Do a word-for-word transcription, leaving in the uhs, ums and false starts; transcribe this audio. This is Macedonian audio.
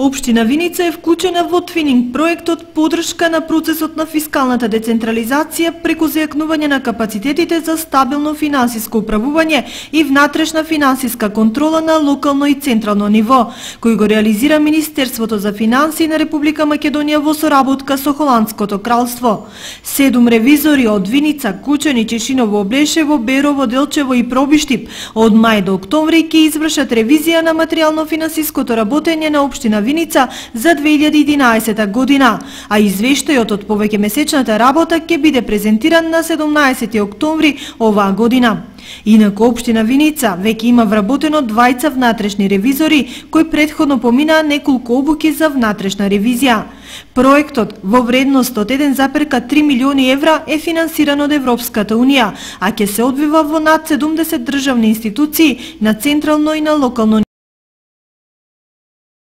Општина Виница е вклучена во твининг проектот поддршка на процесот на фискалната децентрализација преку зајакнување на капацитетите за стабилно финансиско управување и внатрешна финансиска контрола на локално и централно ниво, кој го реализира Министерството за финансии на Република Македонија во соработка со Холандското кралство. Седум ревизори од Виница, Кучани, Чешиново, Облешево, Берово, Делчево и Пробиштип од мај до октомври ќе извршат ревизија на материјално-финансиското работење на општина Виница за две илјади и единаесета година, а извештајот од повеќемесечната работа ќе биде презентиран на седумнаесети октомври оваа година. Инаку општина Виница веќе има вработено двајца внатрешни ревизори кои претходно поминаа неколку обуки за внатрешна ревизија. Проектот во вредност од еден запирка три милиони евра е финансиран од Европската унија, а ќе се одвива во над седумдесет државни институции на централно и на локално